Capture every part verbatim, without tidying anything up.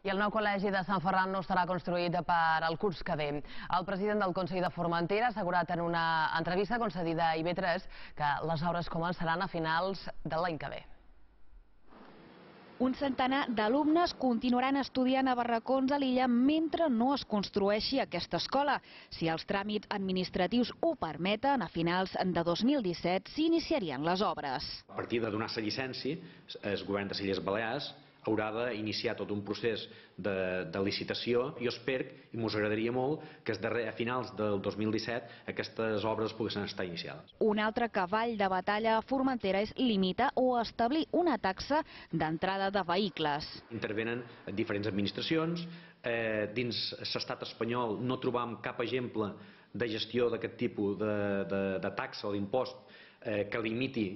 I el nou col·legi de Sant Ferran no estarà construït per al curs que ve. El president del Consell de Formentera ha assegurat en una entrevista concedida a I B tres que les obres començaran a finals de l'any que ve. Un centenar d'alumnes continuaran estudiant a barracons a l'illa mentre no es construeixi aquesta escola. Si els tràmits administratius ho permeten, a finals de dos mil disset s'iniciarien les obres. A partir de donar-se llicència, el govern de les Illes Balears haurà d'iniciar tot un procés de, de licitació. Jo espero, i m'us agradaria molt, que a finals del dos mil disset aquestes obres poguessin estar iniciades. Un altre cavall de batalla a Formentera és limitar o establir una taxa d'entrada de vehicles. Intervenen diferents administracions. Eh, dins l'estat espanyol no trobam cap exemple de gestió d'aquest tipus de, de, de taxa o d'impost eh, que limiti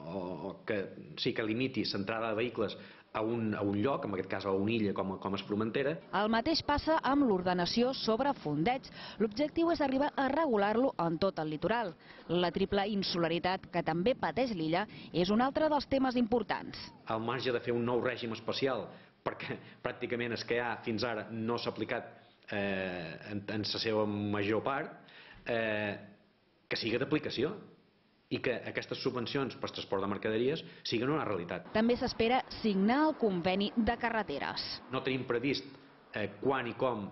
o que sí que limiti l'entrada de vehicles a un, a un lloc, en aquest cas a una illa com, com és Formentera. El mateix passa amb l'ordenació sobre fondeig. L'objectiu és arribar a regular-lo en tot el litoral. La triple insularitat que també pateix l'illa és un altre dels temes importants. Al marge de fer un nou règim especial, perquè pràcticament el que hi ha fins ara no s'ha aplicat eh, en, en la seva major part, eh, que sigui d'aplicació i que aquestes subvencions per transport de mercaderies siguin una realitat. També s'espera signar el conveni de carreteres. No tenim previst eh, quan i com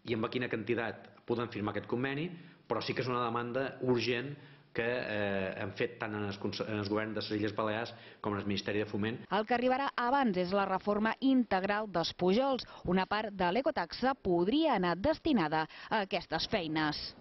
i amb quina quantitat podem firmar aquest conveni, però sí que és una demanda urgent que eh, hem fet tant en el, en el govern de les Illes Balears com en el Ministeri de Foment. El que arribarà abans és la reforma integral dels pujols. Una part de l'ecotaxa podria anar destinada a aquestes feines.